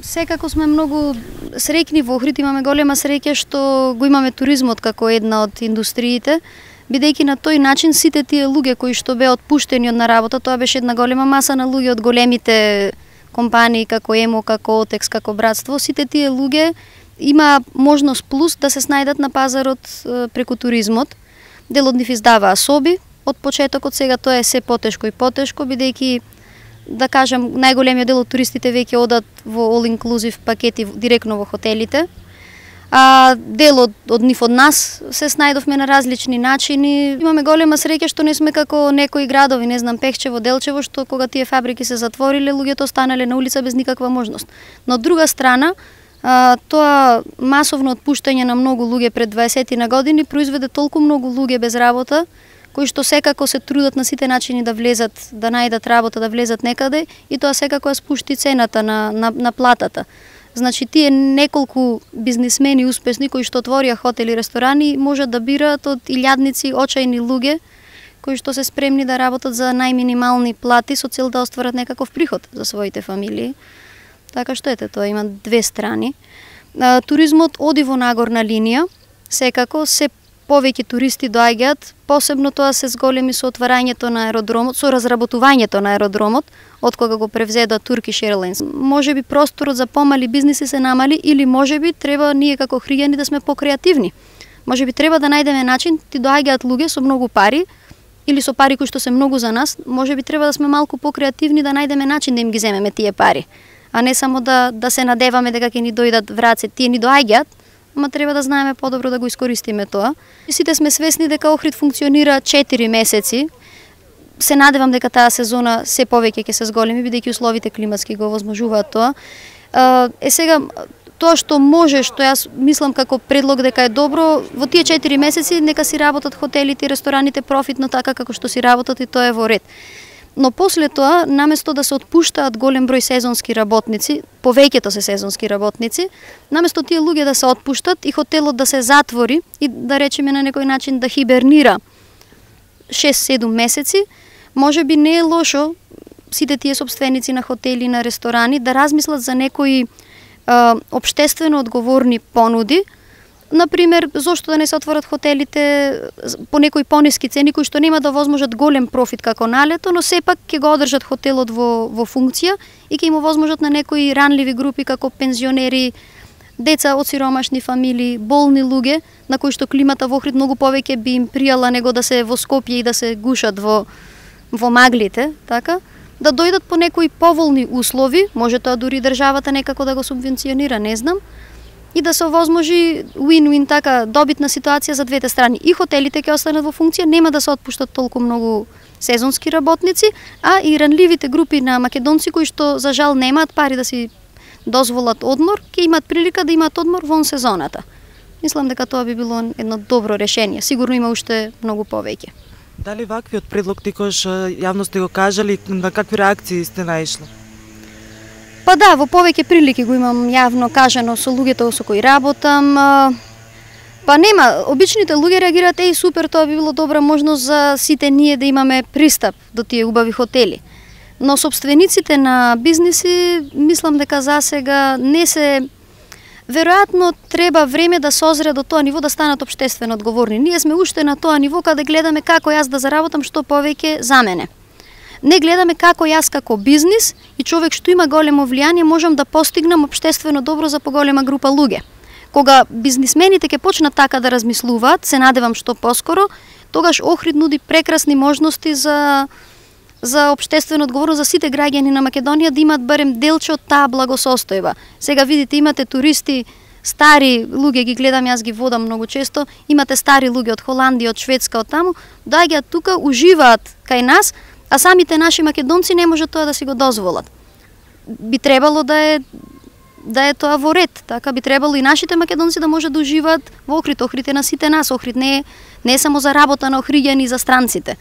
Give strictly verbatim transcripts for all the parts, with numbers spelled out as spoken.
Секако сме многу среќни во Охрид, имаме голема среќа што го имаме туризмот како една од индустриите, бидејќи на тој начин сите тие луѓе кои што беа отпуштени од на работа, тоа беше една голема маса на луѓе од големите компании како ЕМО, како Отекс, како Братство, сите тие луѓе има можност плюс да се снајдат на пазарот преку туризмот. Дел од нив издаваа соби од почетокот, сега тоа е се потешко и потешко, бидејќи да кажам, најголемиот дел од туристите веќе одат во all inclusive пакети директно во хотелите. А дел од, од нив од нас се снајдовме на различни начини. Имаме голема среќа што не сме како некои градови, не знам, Пехчево, Делчево, што кога тие фабрики се затвориле, луѓето останале на улица без никаква можност. Но од друга страна, а, тоа масовно отпуштање на многу луѓе пред дваесет на години произведе толку многу луѓе без работа, кои што секако се трудат на сите начини да влезат, да најдат работа, да влезат некаде, и тоа секако ја спушти цената на, на, на платата. Значи, тие неколку бизнисмени успешни кои што отворија хотели и ресторани можат да бираат од илјадници очајни луѓе кои што се спремни да работат за најминимални плати со цел да остварат некаков приход за своите фамилии. Така што ете, тоа има две страни. Туризмот оди во нагорна линија, секако се повеќе туристи доаѓаат, посебно тоа се зголеми со отварањето на аеродромот, со разработувањето на аеродромот, од кога го превзеда Turkish Airlines. Можеби просторот за помали бизниси се намали, или можеби треба ние како охриѓани да сме покреативни. Можеби треба да најдеме начин, ти доаѓаат луѓе со многу пари, или со пари кои што се многу за нас, можеби треба да сме малку покреативни, да најдеме начин да им ги земеме тие пари, а не само да, да се надеваме дека ќе ни дојдат враце. Тие ни доаѓаат, ама треба да знаеме подобро да го искористиме тоа. И сите сме свесни дека Охрид функционира четири месеци. Се надевам дека таа сезона се повеќе ќе се зголеми, бидејќи условите климатски го овозможуваат тоа. Е сега, тоа што може, што јас мислам како предлог дека е добро, во тие четири месеци нека си работат хотелите и рестораните профитно така како што си работат, и тоа е во ред. Но после тоа, наместо да се отпуштаат голем број сезонски работници, повеќето се сезонски работници, наместо тие луѓе да се отпуштат и хотелот да се затвори и да речеме на некој начин да хибернира шест-седум месеци, може би не е лошо сите тие сопственици на хотели и на ресторани да размислат за некои а, обштествено одговорни понуди. Например, зошто да не се отворат хотелите по некои пониски цени кои што нема да возможат голем профит како налето, но сепак ќе го одржат хотелот во, во функција и ќе им возможат на некои ранливи групи како пензионери, деца од сиромашни фамилии, болни луѓе, на кои што климата во Охрид многу повеќе би им пријала него да се во Скопје и да се гушат во, во маглите, така, да дојдат по некои поволни услови, може тоа дури државата некако да го субвенционира, не знам, и да се овозможи win-win, така, добитна ситуација за двете страни. И хотелите ќе останат во функција, нема да се отпуштат толку многу сезонски работници, а и ранливите групи на македонци кои што за жал немаат пари да си дозволат одмор, ќе имаат прилика да имаат одмор вон сезоната. Мислам дека тоа би било едно добро решение. Сигурно има уште многу повеќе. Дали ваквиот предлог тикош јавно сте го кажали, на какви реакции сте наишли? Па да, во повеќе прилики го имам јавно кажано со луѓето со кои работам. Па нема, обичните луѓе реагираат: еј, супер, тоа би било добра можност за сите ние да имаме пристап до тие убави хотели. Но собствениците на бизниси, мислам дека засега не се... Веројатно треба време да созре до тоа ниво да станат општествено одговорни. Ние сме уште на тоа ниво каде гледаме како јас да заработам што повеќе за мене. Не гледаме како јас како бизнис и човек што има големо влијание можам да постигнам општествено добро за поголема група луѓе. Кога бизнисмените ќе почнат така да размислуваат, се надевам што поскоро, тогаш Охрид нуди прекрасни можности за за општествено одговорност за сите граѓани на Македонија да имаат барем делче од таа благосостојба. Сега видите, имате туристи, стари луѓе, ги гледам, јас ги водам многу често, имате стари луѓе од Холандија, од Шведска, од таму, доаѓаат тука, уживаат кај нас, а самите наши македонци не можат тоа да си го дозволат. Би требало да е да е тоа во ред, така би требало и нашите македонци да можат да уживаат во Охрид. Охрид е на сите нас, Охрид не е, не е само за работа на охриѓани и за странците.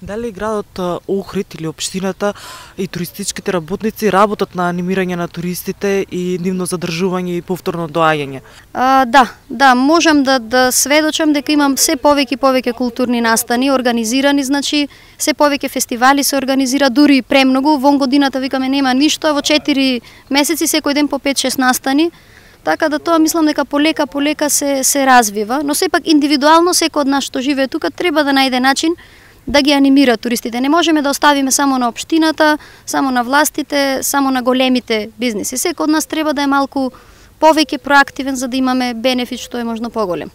Дали градот Охрид или општината и туристичките работници работат на анимирање на туристите и нивно задржување и повторно доаѓање? А, да, да, можам да да сведочам дека имам се повеќе и повеќе културни настани организирани, значи се повеќе фестивали се организира, дури и премногу. Вон годината викаме нема ништо, а во четири месеци секој ден по пет-шест настани. Така да тоа мислам дека полека полека се се развива, но сепак индивидуално секој од нас што живее тука треба да најде начин да ги анимира туристите. Не можеме да оставиме само на општината, само на властите, само на големите бизниси. Секој од нас треба да е малку повеќе проактивен за да имаме бенефит што е можно поголем.